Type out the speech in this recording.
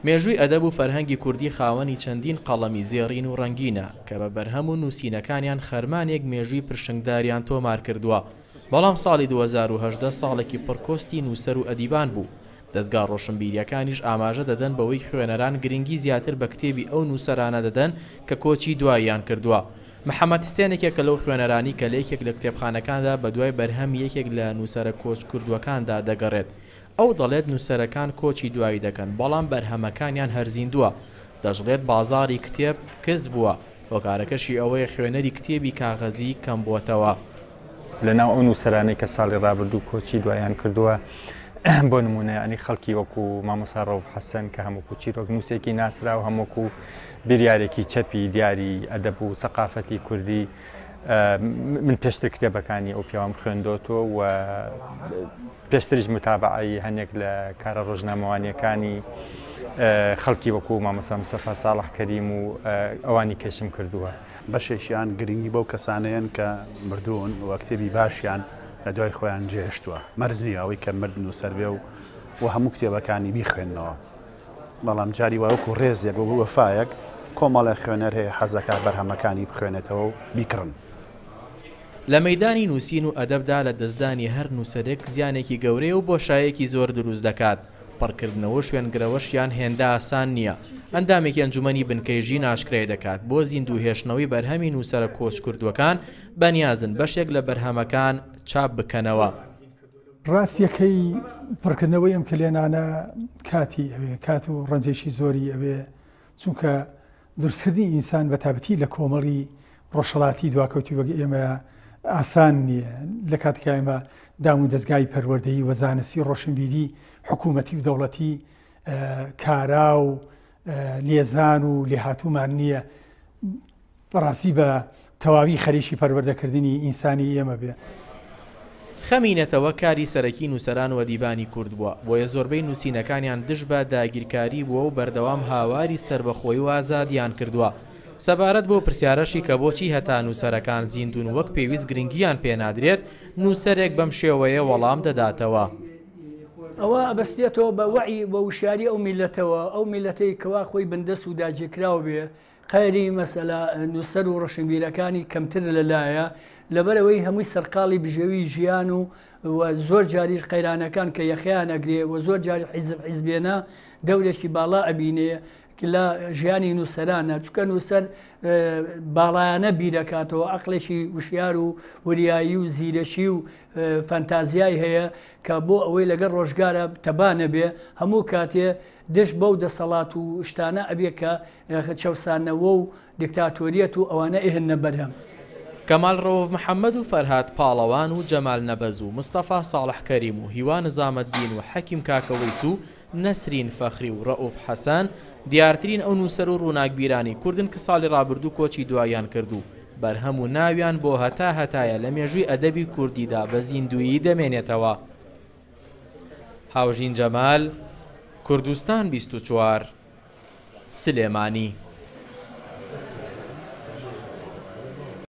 مێژووی ئەدەب و فەرهەنگی کوردی خاوەنی چەندین قەڵەمی زێڕین و ڕەنگینە کە بە بەرهەم و نووسینەکانیان خەرمانێک مێژووی پرشنگداریان تۆمار کردووە، بەڵام ساڵی 2018 ساڵێکی پڕ کۆستی نووسەر و ئەدیبان بوو، دەزگا ڕۆشنبیرییەکانیش ئاماژە دەدەن بەوەی خوێنەران گرنگی زیاتر بە کتێبی ئەو نووسەرانە دەدەن کە کۆچی دواییان کردووە. محەمەد حسێن یەکێکە لەو خوێنەرانی کە لە یەکێک لە کتێبخانەکاندا بەدوای بەرهەمی یەکێک لە نووسەرە کۆچکردووەکاندا دەگەڕێت. ئەو دەڵێت نووسەرەکان کۆچی دوایی دەکەن، بەڵام بەرهەمەکانیان هەر زیندووە. دەشڵێت بازاڕی کتێب کز بووە، هۆکارەکەشی ئەوەیە خوێنەری کتێبی کاغەزی کەمبووەتەوە. لەناو ئەو نووسەرانەی کە ساڵی ڕابردوو کۆچی دوایان کردووە، بۆ نموونە یانی خەڵکی وەکو مامۆستا ڕەوف حەسەن کە هەم وەکو چیرۆکنووسێکی ناسراو هەم وەکو بیریارێکی چەپی دیاری ئەدەب و سەقافەتی کوردی من پێشتر کتێبەکانی ئەو پیاوەم خوێندۆتەوە و پێشتریش متابعەی هەنێک لە کارە ڕۆژنامەوانیەکانی خەڵکی وەکو مامۆستا مستەفا ساڵح کەریم و ئەوانی کەشم کردووە. بەشێکیان گرنگی بەو کەسانەیەن کە مردوون و کتێبی باشیان لە دوای خۆیان جێهێشتووە. مەرج نییە ئەوەی کە مرد نووسەر بێ و هەموو کتێبەکانی بیخوێننەوە. بەڵام جاری وا وەکو ڕێزێک وەکو وەفایەک کۆمەڵێک خوێنەر هەیە حەز دەکات بەرهەمەکانی بخوێنێتەوە و بیکڕن. لە مەیدانی نووسین و ئەدەبدا لە دەستدانی هەر نووسەرێک زیانێکی گەورەیە و بۆشایەکی زۆر دروست دەکات، پڕکردنەوە و شوێنگرەوەشیان هێندە ئاسان نییە. ئەندامێکی ئەنجومەنی بنکەی ژین ئاشکرای دەکات، بۆ زیندوو هێشتنەوەی بەرهەمی نووسەرە کۆچکردووەکان بەنیازن بەشێک لە بەرهەمەکان چاپ بکەنەوە. ڕاستیەکەی پڕکردنەوەی ئەم کەلێنانە کاتی ئەوێ، کات و ڕەنجێکی زۆری ئەوێ، چونکە دروستکردنی ئینسان بە تابەتی لە کۆمەڵی ڕۆژهەڵاتی دواکەوتوی وەک ئێمە ئاسان نییە، لە کاتێکا ئێمە دام و دەزگای پەروەردەیی و زانستی ڕۆشنبیری حکوومەتی و دەوڵەتی کارا و لێزان و لێهاتوومان نییە بەڕاستی بە تەواوی خەریکی پەروەردەکردنی ئینسانی ئێمە بێ. خەمی نەتەوە کاری سەرەکی نووسەران و ئەدیبانی کورد بووە، بۆیە زۆربەی نووسینەکانیان دژ بە داگیرکاری بووە و بەردەوام هاواری سەربەخۆیی و ئازادییان کردووە. سەبارەت بەو پرسیارەشی کە بۆچی هەتا نووسەرەکان زیندوون وەک پێویست گرنگییان پێ نادرێت، نووسەرێک بەم شێوەیە وەڵام دەداتەوە. ئەوە ئەبەستێتەوە بە وەعی و وشیاری ئەو میللەتەوە، ئەو میللەتەی کەوا خۆی بندەست و داگیرکراو بێ، قەیری مەسەلە نووسەر و ڕۆشنبیرەکانی کەمتر لەلایە، لەبەرئەوەی هەمووی سەرقاڵی بژێوی ژیان و و زۆر جاریش قەیرانەکان کە یەخەیان ئەگرێ و زۆر جار حیزب حیزبێنە دەورێکی باڵا ئەبینێ لە ژیانی نووسەرانە، چونکە نووسەر باڵایانە بیرەکاتەوە، عەقڵێکی وشیار و وریایی و زیرەکی و فەنتازیای هەیە کە بۆ ئەوەی لەگەڵ ڕۆژگارە تەبا نەبێ هەموو کاتێ دژ بەو دەسەڵات و شتانە ئەبێ کە چەوسانەوە و دیکتاتۆریەت و ئەوانە ئەهێننە بەرهەم. کەمال ڕەوف محەمەد و فەرهاد پاڵەوان و جەمال نەبەز و مستەفا ساڵح کەریم و هیوا نزامەدین و حەکیم کاکەوەیس و نەسرین فەخری و ڕەئوف حەسەن دیارترین ئەو نووسەر و ڕووناکبیرانەی کوردن کە ساڵی ڕابردوو کۆچی دواییان کرد و بەرهەم و ناویان بۆ هەتا هەتایە لە مێژووی ئەدەبی کوردیدا بە زیندوویی دەمێنێتەوە. هاوژین جەمال، کوردستان 24، سلێمانی.